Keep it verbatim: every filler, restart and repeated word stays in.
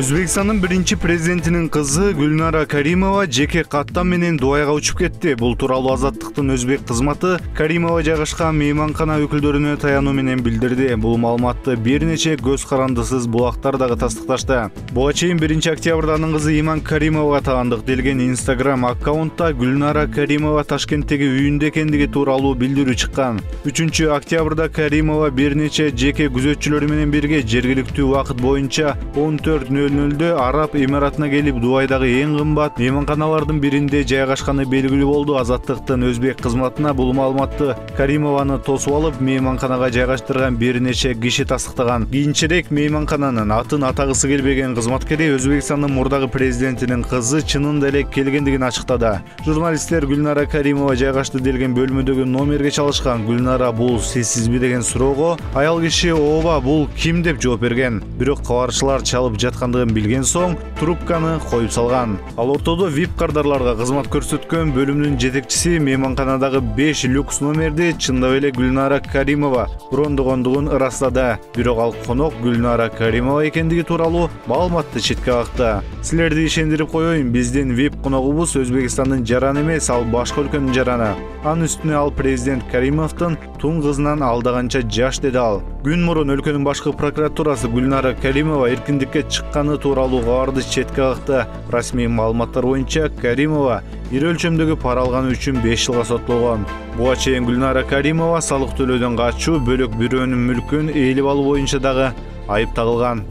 Өзбекстандын биринчи президентинин кызы Гүлнара Каримова жеке каттам менен Дубайга учуп кетти. Бул тууралуу Азаттыктын өзбек кызматы Каримова жайгашкан мейманкана өкүлдөрүнө таянуу менен билдирди. Бул маалыматты бир нече көз карандысыз булактар дагы тастыкташты. Буга чейин биринчи октябрда анын кызы Иман Каримовага таандык делген Instagram аккаунтта Гүлнара Каримова Ташкенттеги үйүндө экендиги тууралуу билдирүү чыккан. үчүнчү октябрда Каримова бир нече жеке күзөтчүлөрү менен бирге жергиликтүү убакыт боюнча он төрт нөл нөлдө Араб Эмиратына келип Дубайдагы эң кымбат мейманканалардын биринде жайгашканы белгилүү болду. Азаттыктын өзбек кызматына бул маалыматты Каримованы тосуп алып мейманканага жайгаштырган бир нече киши тастыктаган. Кийинчерээк мейманкананын атын атагысы келбеген кызматкери Өзбекстандын мурдагы президентинин кызы чынында эле келгендигин ачыктады. Журналисттер Гүлнара Каримова жайгашты делген бөлмөдөгү номерге чалышкан. Гүлнара бул сизсизби деген суроого аял киши ооба бул ким деп жооп берген. Бирок кабарчылар чалып жаткандыгын билген соң трубканы коюп салган. Ал ортодо вип кардарларга кызмат көрсөткөн бөлүмдүн жетекчиси мейманканадагы беш люкс номерди чындап эле Гүлнара Каримова брондогондугун ырастады. Бирок ал конок Гүлнара Каримова экендиги тууралуу маалыматты четке какты. Силерди ишендирип коеюн, биздин вип коногубуз Өзбекстандын жараны эмес, ал башка өлкөнүн жараны. Анын үстүнө ал президент Каримовдун тун кызынан алдаганча жаш, деди ал. Күн мурун өлкөнүн башкы прокуратурасы Гүлнара Каримова эркиндикке чыкканы тууралуу кабарды четке какты. Расмий маалыматтар боюнча Каримова ири өлчөмдөгү пара алганы үчүн беш жылга соттолгон. Буга чейин Гүлнара Каримова салык төлөөдөн качуу, бөлөк бирөөнүн мүлкүн ээлеп алуу боюнча дагы айып тагылган.